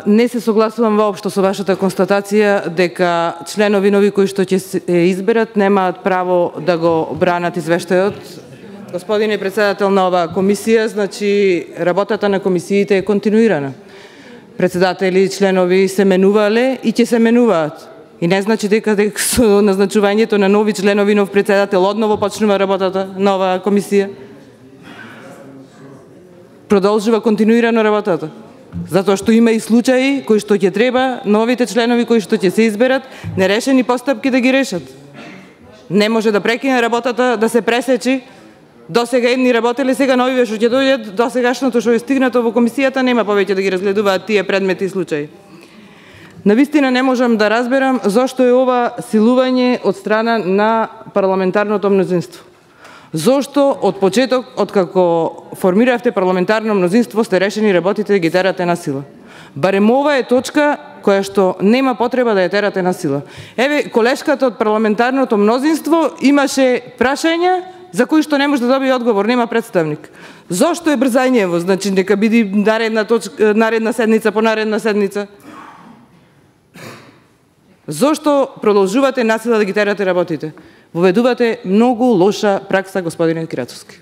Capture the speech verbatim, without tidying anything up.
Не се согласувам воопшто со вашата констатација дека членови нови кои што ќе се изберат немаат право да го бранат извештајот. Господине председател на оваа комисија, значи работата на комисиите е континуирана. Председатели и членови се менувале и ќе се менуваат. И не значи дека дека со назначувањето на нови членови, нов председател одново почнува работата на оваа комисија. Продолжува континуирано работата. Затоа што има и случаи кои што ќе треба новите членови кои што ќе се изберат нерешени постапки да ги решат. Не може да прекине работата, да се пресечи. До сега едни работеле, сега новиве што ќе дојдат, до сегашното што е стигнато во комисијата нема повеќе да ги разгледуваат тие предмети и случаи. Навистина не можам да разберам зошто е ова силување од страна на парламентарното мнозинство. Зошто од почеток, откако формиравте парламентарно мнозинство, сте решени работите да ги терате на сила? Барем ова е точка која што нема потреба да ја терате на сила. Еве, колешката од парламентарното мнозинство имаше прашања за кои што не може да добие одговор, нема представник. Зошто е брзањево? Значи, нека биде наредна точка, наредна седница по наредна седница. Зошто продолжувате насила да ги терате работите? Воведувате многу лоша пракса, господине Кирацовски.